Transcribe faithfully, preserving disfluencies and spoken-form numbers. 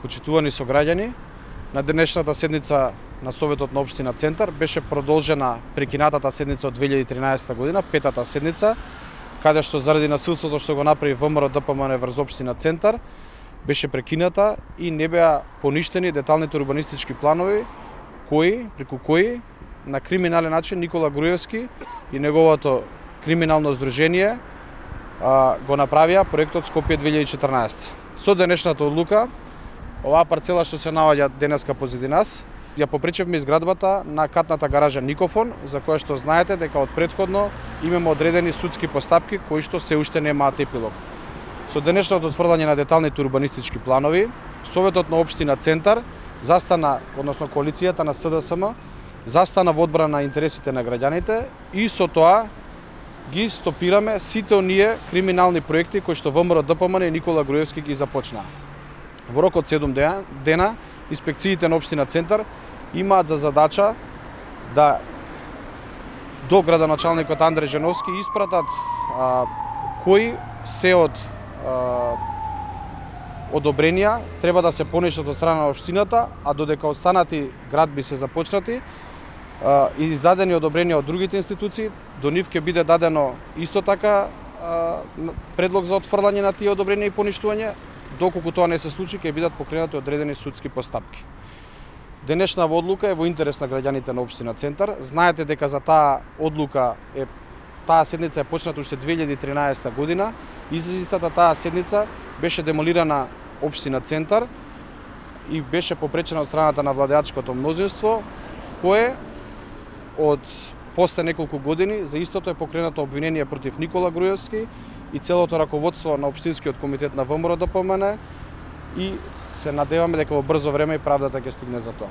почитувани сограѓани, на денешната седница на Советот на општина Центар беше продолжена прекинатата седница од две илјади и тринаесетта година, петата седница, каде што заради насилството што го направи ВМРО-ДПМН врз општина Центар, беше прекината и не беа поништени деталните урбанистички планови, кои, преку кои на криминален начин Никола Груевски и неговото криминално здружение а, го направија проектот Скопје две илјади и четрнаесетта. Со денешната одлука, оваа парцела што се наоѓа денеска позади нас, ја попречевме изградбата на катната гаража Никофон, за која што знаете дека од претходно имаме одредени судски постапки кои што се уште немаат епилог. Со денешното отврдање на деталните урбанистички планови, Советот на општина Центар застана, односно коалицијата на СДСМ, застана во одбрана на интересите на граѓаните и со тоа ги стопираме сите оние криминални проекти кои што ВМРО-ДПМН и Никола Груевски ги започнаа. Во рок од седум дена, инспекциите на општина Центар имаат за задача да до градоначалникот Андреј Женовски испратат а, кои се од а, одобренија треба да се понишат од страна на општината, а додека останати градби се започнати а, и издадени одобренија од другите институции, до нив ќе биде дадено исто така а, предлог за отфрлање на тие одобренија и поништување. Доколку тоа не се случи, ќе бидат покренати одредени судски постапки. Денешната одлука е во интерес на граѓаните на општина Центар. Знаете дека за таа одлука е таа седница е почната уште две илјади и тринаесетта година и за истата таа седница беше демолирана општина Центар и беше попречена од страната на владеачкото мнозинство, кое од после неколку години за истото е покренато обвинение против Никола Груевски и целото раководство на општинскиот комитет на ВМРО-ДПМН и се надеваме дека во брзо време и правдата ќе стигне за тоа.